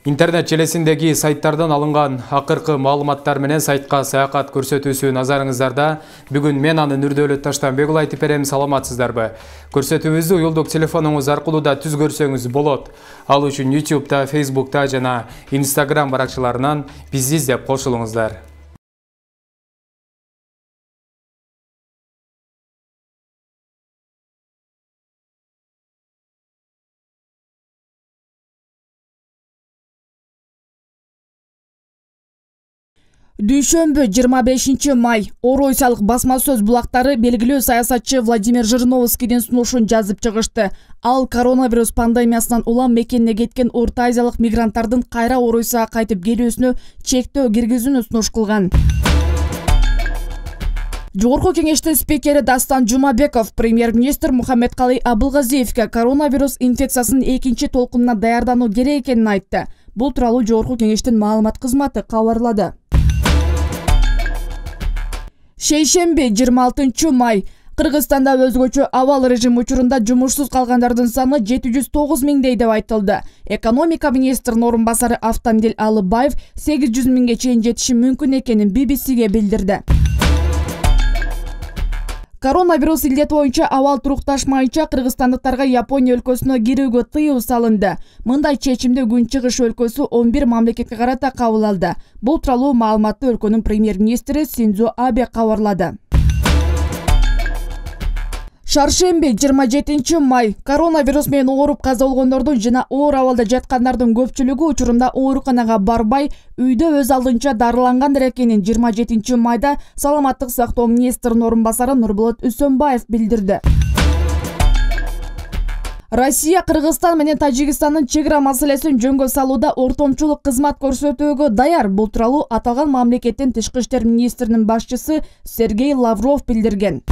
Интернет желесиндеги сайттардан алынган акыркы маалыматтар менен сайтка саякат көрсөтүүсү назарыңыздарда. Бүгүн мен анын Нурдөөлөт Таштанбекұлы айтып берем, саламатсыздарбы? Көрсөтүүбүздү уюлдук телефонуңуз аркылуу да түз көрсөңүз болот. Ал үчүн YouTube'да, Facebook'та жана Instagram баракчаларынан бизди издеп кошулуңуздар. Дүйшөмбү 25 май Оройсалык басма сөз булактары белгилүү саясатчы Владимир Жириновскийдин сунушун жазып чыгышты. Ал коронавирус пандемиясынан улам мекенине кеткен Орто Азиялык мигранттардын кайра Оройсага кайтып келүүсүнө чектөө киргизүүнү сунуш кылган. Жогорку кеңештин спикери Дастан Жумабеков премьер-министр Мухаммедкалый Абылгазиевке коронавирус инфекциясынын экинчи толкунуна даярдануу керек экенин айтты. Бул тууралуу Жогорку кеңештин маалымат кызматы кабарлады. Шейшемби 26 май Кыргызстанда өзгөчө абал режим учурунда жумушсуз калгандардын саны 709 миңдей деп айтылды. Экономика министринин орун басары Автандил Алыбаев 800 миңге чейин жетиши мүмкүн экенин BBC-ге билдирди. Коронавирус илдети боюнча абал турукташмайынча кыргызстандыктарга Япония өлкөсүнө кирүүгө тыюу салынды. Мындай чечимди Күнчыгыш өлкөсү 11 мамлекетке карата кабыл алды. Бул тууралуу маалыматты өлкөнүн премьер-министри Синдзо Абе кабарлады. Шаршемби 27 май коронавирус менен ооруп каза болгондордун жана оор абалда жаткандардын көпчүлүгү учурунда ооруканага барбай, үйдө өз алдынча дарылангандыр экенин 27 майда Саламаттык сактоо министринин орун басары Нурболот Үсөнбаев билдирди. Россия, Кыргызстан менен Тажикстандын чек ара маселесин жөнгө салууда ортомчулук кызмат көрсөтүүгө даяр. Бул тууралуу аталган мамлекеттин тышкы иштер министринин башчысы Сергей Лавров билдирген.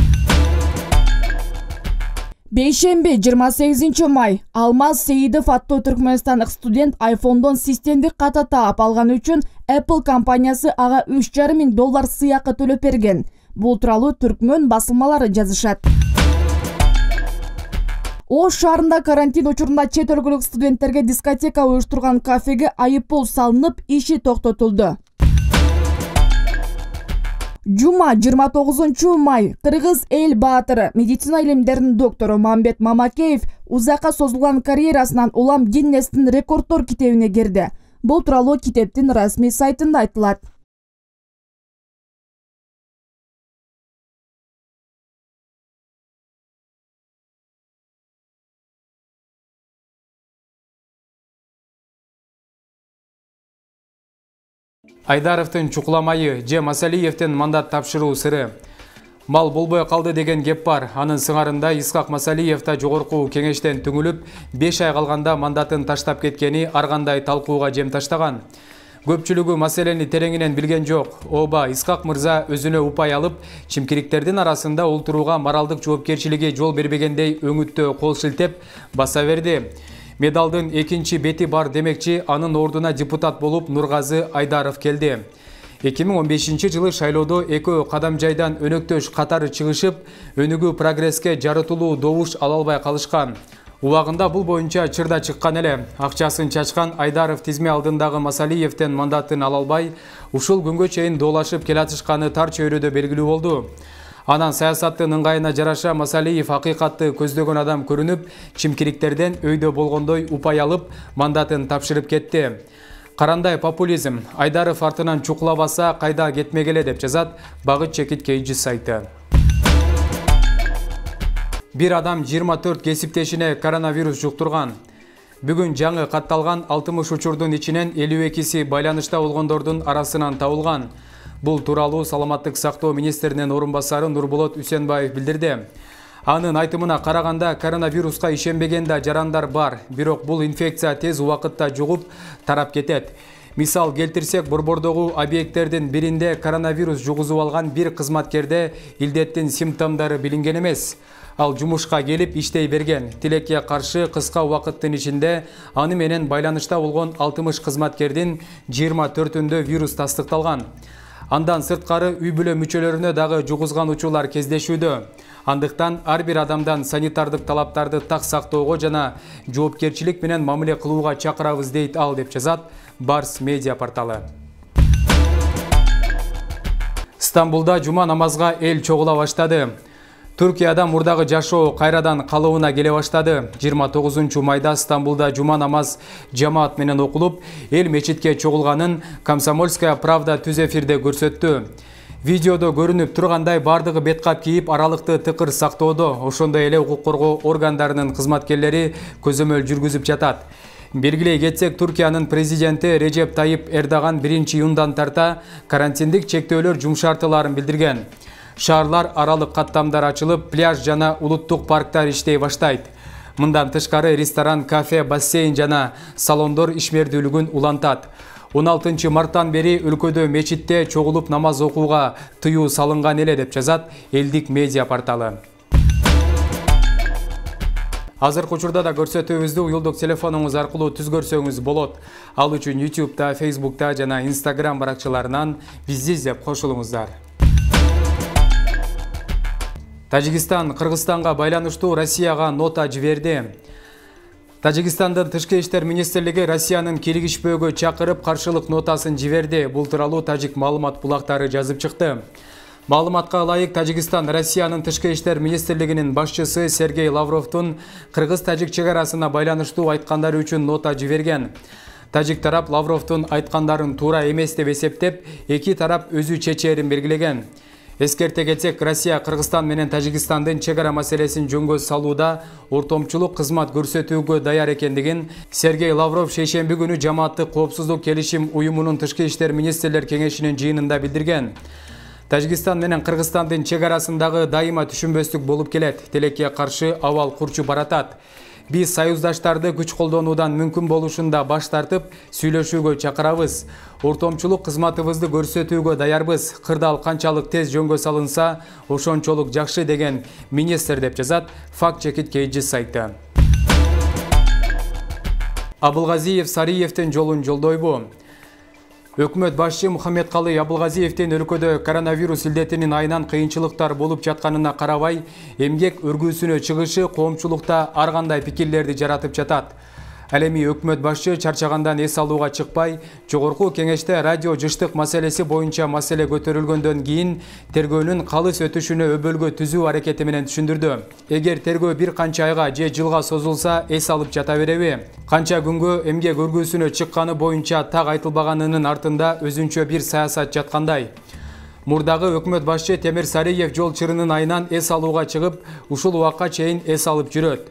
Бейшемби 28 май Алмаз Сейидов аттуу түркмөнстандык студент iPhone'дон системдик ката таап алган үчүн Apple компаниясы ага $3,5 миң сыйакы төлөп берген. Бул тууралуу түркмөн басылмалары жазышат. Ош шаарында карантин учурунда чет өлкөлүк студенттерге дискотека уюштурган кафеге айыппул салынып, иши токтотулду. Жума 29 май Кыргыз эл баатыры, медицина илимдеринин доктору Мамбет Мамакеев узакка созулган карьерасынан улам Гиннестин рекорддор китебине кирди. Бул тууралуу китептин расмий сайтында айтылат. Айдаровдун чукуламайы же Масалиевдин мандат тапшыруу сыры. Мал болбой калды деген кеп бар. Анын сыңарында Исхак Масалиев да жогорку кеңештен түңүлүп, 5 ай калганда мандатын таштап кеткени ар кандай талкууга жем таштаган. Көпчүлүгү маселени тереңинен билген жок. Оба Исхак мырза өзүнө упай алып, чимкириктердин арасында олтурууга моралдык жоопкерчилиги жол бербегендей өңүттө кол шилтеп баса берди. Медалдын экинчи бети бар демекчи, анын ордуна депутат болуп Нургазы Айдаров келди. 2015 жылы шайлоодо экөө кадам жайдан өнөктөш катары чыгышып, өнүгүү прогресске жарытылуу добуш ала албай калышкан. Убагында бул боюнча чырда чыккан эле. Акчасын чачкан Айдаров тизме алдындагы Масалиевден мандатын ала албай, ушул күнгө чейин доолашып келатышканы тар чөйрөдө белгилүү болду. Анан саясаттын ыңгайына жараша Масалиев акыйкатты көздөгөн адам көрүнүп, чимкириктерден өйдө болгондой упай алып, мандатын тапшырып кетти. Карандай популизм, Айдаров артынан чукулабаса кайда кетмегеле деп жазат Багыт Чекит Кейджи сайты. Бир адам 24 кесиптешине коронавирус жуктурган. Бүгүн жаңы катталган 60 учурдун ичинен 52си байланышта болгондордун арасынан табылган. Бул тууралуу Саламаттык сактоо министринин орун басары Нурболот Үсөнбаев билдирди. Анын айтымына караганда коронавируска ишенбеген да жарандар бар, бирок бул инфекция тез убакытта жугуп, тарап кетет. Мисал келтирсек, Борбордогу объекттердин биринде коронавирус жугузуп алган бир кызматкерде илдеттин симптомдору билинген эмес. Ал жумушка келип иштей берген. Тилекке каршы кыска убакыттын ичинде аны менен байланышта болгон 60 кызматкердин 24-үндө вирус тастыкталган. Андан сырткары үй бүлө мүчөлөрүнө дагы жугузган учурлар кездешүүдө. Андыктан ар бир адамдан санитардык талаптарды так сактоого жана жоопкерчилик менен мамиле кылууга чакырабыз дейт ал, деп жазат Барс медиа порталы. Стамбулда жума намазга эл чогула баштады. Түркияда мурдагы жашоо кайрадан калыбына келе баштады. 29 майда Стамбулда жума намаз жамаат менен окулуп, эл мечитке чогулганын Комсомольская правда түз эфирде көрсөттү. Видеодо көрүнүп тургандай бардыгы беткап кийип, аралыкты тыкыр сактоодо, ошондой эле укук коргоо органдарынын кызматкерлери көзөмөл жүргүзүп жатат. Белгилей кетсек, Түркиянын президенти Режеп Тайип Эрдоган 1-июндан тарта карантиндик чектөөлөр жумшартыларын билдирген. Шаарлар аралык каттамдар ачылып, пляж жана улуттук парктар иштей баштайт. Мындан тышкары ресторан, кафе, бассейн жана салондор ишмердүүлүгүн улантат. 16 марттан бери өлкөдө мечитте чогулуп намаз окууга тыюу салынган эле, деп жазат элдик медиа порталы. Азыркы учурда да көрсөтүүбүздү уюлдук телефонуңуз аркылуу түзгөрсөңүз болот. Ал үчүн YouTube'да, Facebook'та жана Instagram баракчаларынан бизди издеп кошулуңуздар. Тажикстан Кыргызстанга байланыштуу Россияга нота жиберди. Тажикстандын Тышкы иштер министрлиги Россиянын киргишпөөгө чакырып каршылык нотасын жиберди. Бул тууралуу тажик маалымат булактары жазып чыкты. Маалыматка ылайык, Тажикстан Россиянын Тышкы иштер министрлигинин башчысы Сергей Лавровдун кыргыз-тажик чек арасына байланыштуу айткандары үчүн нота жиберген. Тажик тарап Лавровдун айткандарын туура эмес деп эсептеп, эки тарап өзү чечээрин белгилеген. Эскерте кетсек, Россия Кыргызстан менен Тажикстандын чек ара маселесин жөнгө салууда ортомчулук кызмат көрсөтүүгө даяр экендигин Сергей Лавров шейшемби күнү Жамааттык коопсуздук келишим уюмунун Тышкы иштер министрлер кеңешинин жыйынында билдирген. Тажикстан менен Кыргызстандын чек арасындагы дайыма түшүнбөстүк болуп келет. Тилекке каршы абал курчуп баратат. Биз союздаштарды күч колдонуудан мүмкүн болушунда баш тартып, сүйлөшүүгө чакырабыз. Ортомчулук кызматыбызды көрсөтүүгө даярбыз. Кырдаал канчалык тез жөнгө салынса, ошончолук жакшы, деген министр, деп жазат Fact Check It сайты. Абылгазиев Сариевдин жолун жолдойбу? Өкмөт башчы Мухаммедкалый Абылгазиевдин өлкөдө коронавирус илдетинин айынан кыйынчылыктар болуп жатканына карабай, эмгек өргүүсүнө чыгышы коомчулукта ар кандай пикирлерди жаратып жатат. Ал эми өкмөт башчы чарчагандан эс алууга чыкпай, жогорку кеңеште радио жыштык маселеси боюнча маселе көтөрүлгөндөн кийин тергөөнүн калыс өтүшүнө өбөлгө түзүү аракети менен түшүндүрдү. Эгер тергөө бир канча айга же жылга созулса, эс алып жата береби? Канча күнгө эмгек өргүүсүнө чыкканы боюнча так айтылбаганынын артында өзүнчө бир саясат жаткандай. Мурдагы өкмөт башчы Темир Сариев жол чырынын айынан эс алууга чыгып, ушул убакка чейин эс алып жүрөт.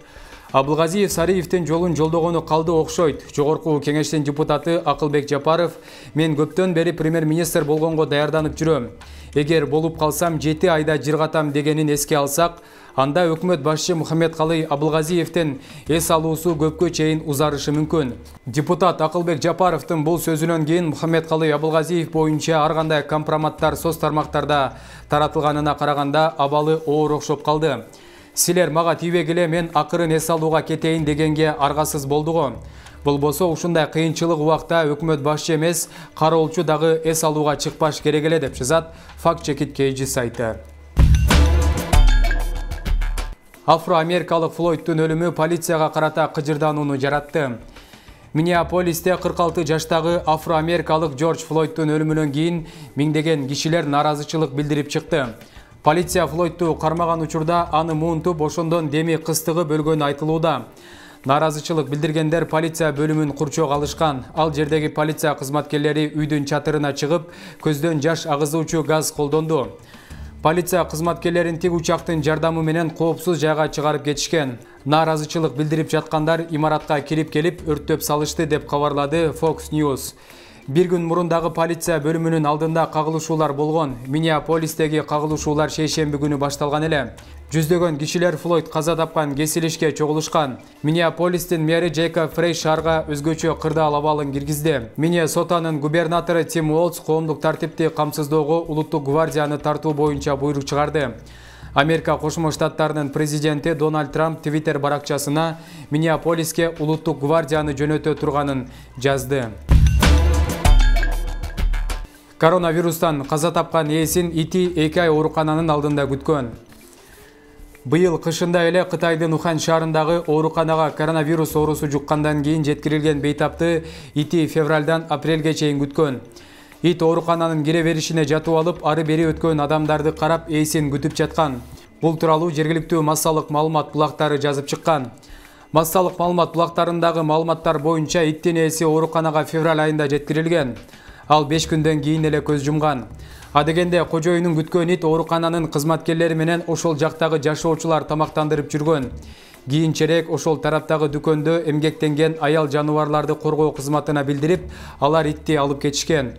Абылгазиев Сариевдин жолун жолдогону калды окшойт. Жогорку кеңештин депутаты Акылбек Жапаров: мен көптөн бери премьер-министр болгонго даярданып жүрөм. Эгер болуп калсам 7 айда жыргатам дегенин эске алсак, анда өкмөт башчы Мухаммедкалый Абылгазиевдин эс алуусу көпкө чейин узарышы мүмкүн. Депутат Акылбек Жапаровдун бул сөзүнөн кийин Мухаммедкалый Абылгазиев боюнча ар кандай компроматтар соц тармактарда таратылганына караганда абалы оор окшоп калды. Силер мага тийбегиле, мен акырын эс алууга кетейин дегенге аргасыз болдуго. Болбосо ушундай кыйынчылык убакта өкмөт башчы эмес, кароолчу дагы эс алууга чыкпаш керек эле, деп жазат Fact Check It сайты. Афро-америкалык Флойдтун өлүмү полицияга карата кыжырданууну жаратты. Миннеаполисте 46 жаштагы афро-америкалык Джордж Флойдтун өлүмүнөн кийин миңдеген кишилер нааразычылык билдирип чыкты. Полиция Флойдту кармаган учурда аны муунтуп, ошондон деми кыстыгып өлгөнү айтылууда. Нааразычылык билдиргендер полиция бөлүмүн курчоого алышкан. Ал жердеги полиция кызматкерлери үйдүн чатырына чыгып, көздөн жаш агызуучу газ колдонду. Полиция кызматкерлерин тик учактын жардамы менен коопсуз жайга чыгарып кетишкен. Нааразычылык билдирип жаткандар имаратка кирип келип өрттөп салышты, деп кабарлады Fox News. Бир күн мурун дагы полиция бөлүмүнүн алдында кагылышуулар болгон. Миннеаполистеги кагылышуулар шейшемби күнү башталган эле. Жүздөгөн кишилер Флойд каза тапкан кесилишке чогулушкан. Миннеаполистин мэри Джейкоб Фрей шаарга өзгөчө кырдаал абалын киргизди. Миннесотанын губернатору Тим Уолтс коомдук тартипти камсыздоого улуттук гвардияны тартуу боюнча буйрук чыгарды. Америка Кошмо Штаттарынын президенти Дональд Трамп Twitter баракчасына Миннеаполиске улуттук гвардияны жөнөтө турганын жазды. Коронавирустан каза тапкан ээсин ити 2 ай оорукананын алдында күткөн. Быйыл кышында эле Кытайдын Ухан шаарындагы ооруканага коронавирус оорусу жуккандан кийин жеткирилген бейтапты ити февралдан апрелге чейин күткөн. Ит оорукананын кире беришине жатып алып, ары бери өткөн адамдарды карап ээсин күтүп жаткан. Бул тууралуу жергиликтүү массалык маалымат булактары жазып чыккан. Массалык маалымат булактарындагы маалыматтар боюнча иттин ээси ооруканага февраль айында жеткирилген. Ал 5 күндөн кийин эле көз жумган. Адегенде кожоюнун күткөн ит оорукананын кызматкерлери менен ошол жактагы жашоочулар тамактандырып жүргөн. Кийинчерээк ошол тараптагы дүкөндө эмгектенген аял жаныбарларды коргоо кызматына билдирип, алар итти алып кетишкен.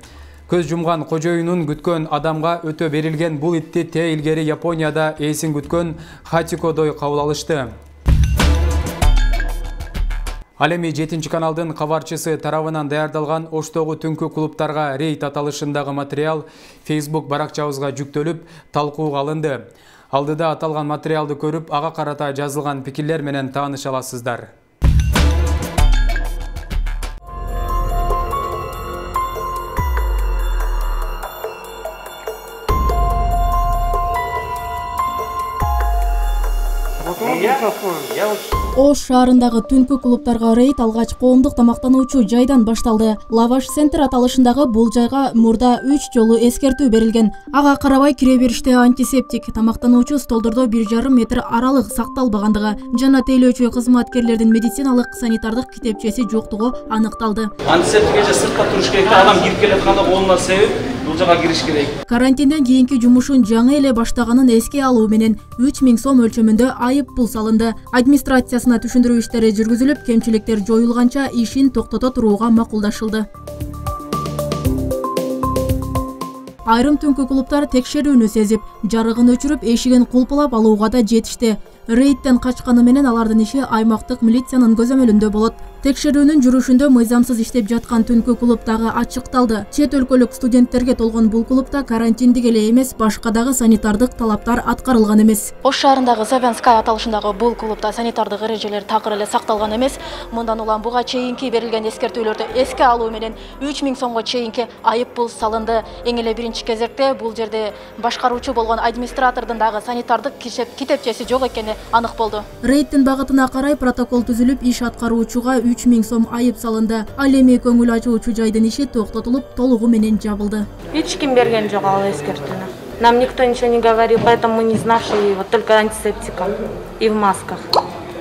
Көз жумган кожоюнун күткөн адамга өтө берилген бул итти те илгери Японияда ээсин күткөн Хатикодой кабыл алышты. Ал эми 7 каналдын кабарчысы тарабынан даярдалган Оштогу түнкү клубтарга рейд аталышындагы материал Facebook баракчабызга жүктөлүп, талкууга алынды. Алдыда аталган материалды көрүп, ага карата жазылган пикирлер менен тааныша аласыздар. Ош шаарындагы түнкү клубтарга рейд алгач коомдук тамактануучу жайдан башталды. Лаваш центр аталышындагы бул жайга мурда 3 жолу эскертүү берилген. Ага карабай кире бериште антисептик, тамактануучу столдордо 1,5 метр аралык сакталбагандыгы жана тейлөөчү кызматкерлердин медициналык санитардык китепчеси жоктугу аныкталды. Антисептик эже сыртта туруш керек, адам кирип келатканда колуна себеп бул жака кириш керек. Карантинден кийинки жумушун жаңы эле баштаганын эске алуу менен 3000 сом өлчөмүндө айып пул салынды. Администрациясына түшүндүрүү иштери жүргүзүлүп, кемчиликтер жоюлганча ишин токтото турууга макулдашылды. Айрым түнкү клубтар текшерүүнү сезип, жарыгын өчүрүп, эшигин кулпулап алууга да жетишти. Рейдтен качканы менен алардын иши аймактык милициянын көзөмөлүндө болот. Текшерүүнүн жүрүшүндө мыйзамсыз иштеп жаткан түнкү клуб дагы ачыкталды. Чет өлкөлүк студенттерге толгон бул клубта карантиндик эле эмес, башка дагы санитардык талаптар аткарылган эмес. Ош шаарындагы Савянская аталышындагы бул клубта санитардык эрежелер такыр эле сакталган эмес. Мындан улам буга чейинки берилген эскертүүлөрдү эске алуу менен 3000 сомго чейинки айып пул салынды. Эң эле биринчи кезекте бул жерде башкаруучу болгон администратордун дагы санитардык китепчеси жок экени анык болду. Рейдтин багытына карай протокол түзүлүп, иш аткаруучуга 3000 сом айып салынды. Ал эми көңүл ачуучу жайдын иши токтотулуп, толугу менен жабылды. Эч ким берген жок ал эскертүүнү. Нам никто ничего не говорил, поэтому мы не знавшие, вот только антисептиком и в масках.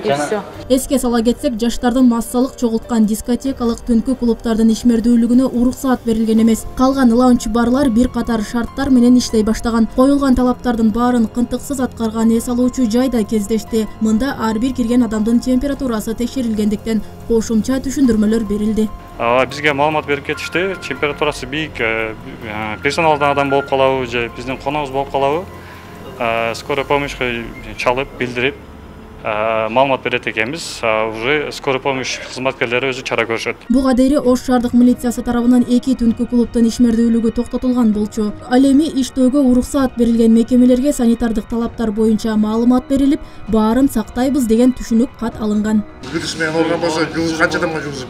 И все. Эске сала кетсек, жаштардын массалык чогулткан дискотекалык түнкү клубтардын ишмердүүлүгүнө уруксаат берилген эмес. Калган лаунч-барлар бир катар шарттар менен иштей баштаган. Коюлган талаптардын баарын кынтыксыз аткарган эс алуучу жайда кездешти. Мында ар бир кирген адамдын температурасы текшерилгендиктен кошумча түшүндүрмөлөр берилди. Бизге маалымат берип кетишти. Температурасы бийик персоналдан адам болуп калабы же биздин коногубуз болуп калабы? Скорая помощька чалып, билдирип маалымат берет экенбиз. Уже скорая помощь кызматкерлери өзү чара көрүшөт. Буга дейин Ош шаардык милициясы тарабынан 2 түнкү клубтун ишмердүүлүгү токтотулган болчу. Ал эми иштөөгө уруксаат берилген мекемелерге санитардык талаптар боюнча маалымат берилип, баарын сактайбыз деген түшүнүк кат алынган. Күдүс менен болгон болсо, канча адамга жугузуп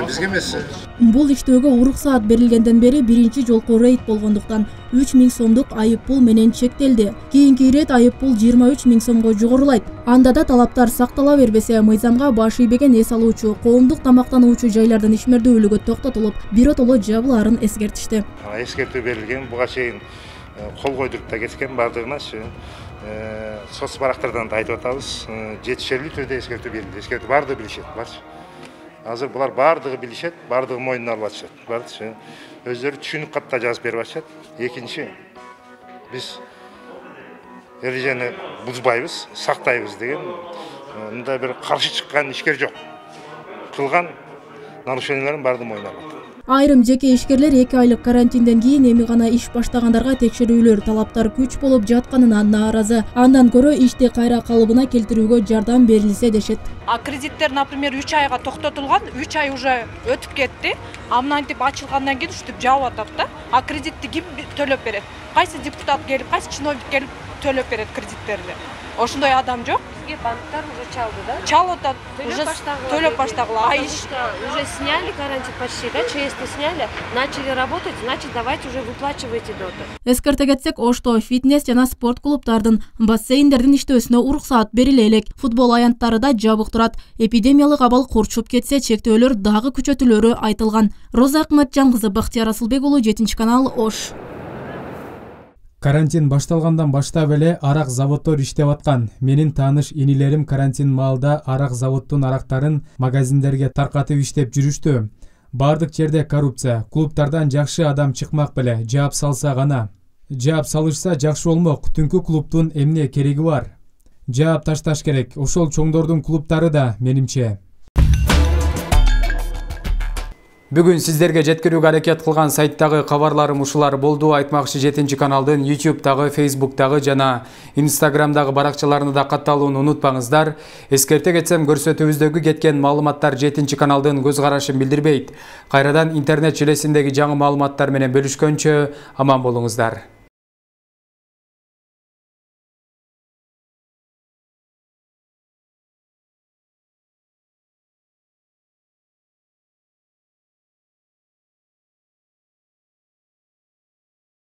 бизге эмес. Бул иштөөгө уруксаат берилгенден бери биринчи жолку рейд болгондуктан 3000 сомдук айып пул менен чектелди. Кийинки ирет айып пул 23 000 сомго жогорулайт. Анда да талаптар сактала бербесе, мыйзамга баш ийбеген эс алуучу, коомдук тамактануучу жайлардын ишмердүүлүгү токтотулуп, биротоло жабылаарын эскертишти. Эскертүү берилген, буга чейин кол койдуруп да кеткен бардыгыначы. Соц барактардан да айтып атабыз, жетишерлүү түрдө эскертүү берилди. Эскертүү бардыгы билишет, барчы. Азыр булар бардыгы билишет, бардыгы мойнуна алып атышат. Барчы. Өздөрү түшүнүк катта жазып берип атышат. Экинчи, биз эрежени бузбайбыз, сактайбыз деген мындай бир каршы чыккан ишкер жок. Кылган нарушениялардын баардыгы мойнуна алат. Айрым жеке ишкерлер 2 айлык карантинден кийин эми гана иш баштагандарга текшерүүлөр, талаптар күч болуп жатканына нааразы. Андан көрө ишти кайра калыбына келтирүүгө жардам берилсе дешет. Кредиттер, например, 3 айга токтотулган, 3 ай уже өтүп кетти. Амнантип ачылгандан кийин ушинтип жабып атат да. Кредитти ким төлөп берет? Кайсы депутат келип, кайсы чиновник келип төлөп берет кредиттерди? ошондой адам жок. Бизге банктар уже чалды, да? Чалып атат, уже төлөп баштагыла. Уже сняли карантин почти, да, ЧС-ни сняли, начали работать, значит, давайте уже выплачивайте доты. Эскерте кетсек, Ошто фитнес жана спорт клубдардын, бассейндердин иштөөсүнө уруксаат бериле элек. Футбол аянттары да жабык турат. Эпидемиялык абал курчуп кетсе, чектөөлөр дагы күчөтүлөрү айтылган. Роза Акматжан кызы, Бактияр Асылбек уулу, 7-канал, Ош. Карантин башталгандан баштап эле арак заводдор иштеп аткан. Менин тааныш инилерим карантин маалда арак заводдун арактарын магазиндерге таркатып иштеп жүрүштү. Бардык жерде коррупция. Клубтардан жакшы адам чыкмак беле, жаап салса гана. Жаап салышса жакшы болмок. Түнкү клубтун эмне кереги бар? Жаап ташташ керек. Ошол чоңдордун клубтары да, менимче. Бүгүн сиздерге жеткирүүгө аракет кылган сайттагы кабарларым ушулар болду. Айтмакчы 7-каналдын YouTube'дагы, Facebook'дагы жана Instagram'дагы баракчаларына да катталууну унутпаңыздар. Эскерте кетсем, көрсөтүүбүздөгү кеткен маалыматтар 7-каналдын көз карашын билдирбейт. Кайрадан интернет желесиндеги жаңы маалыматтар менен бөлүшкөнчө аман болуңуздар.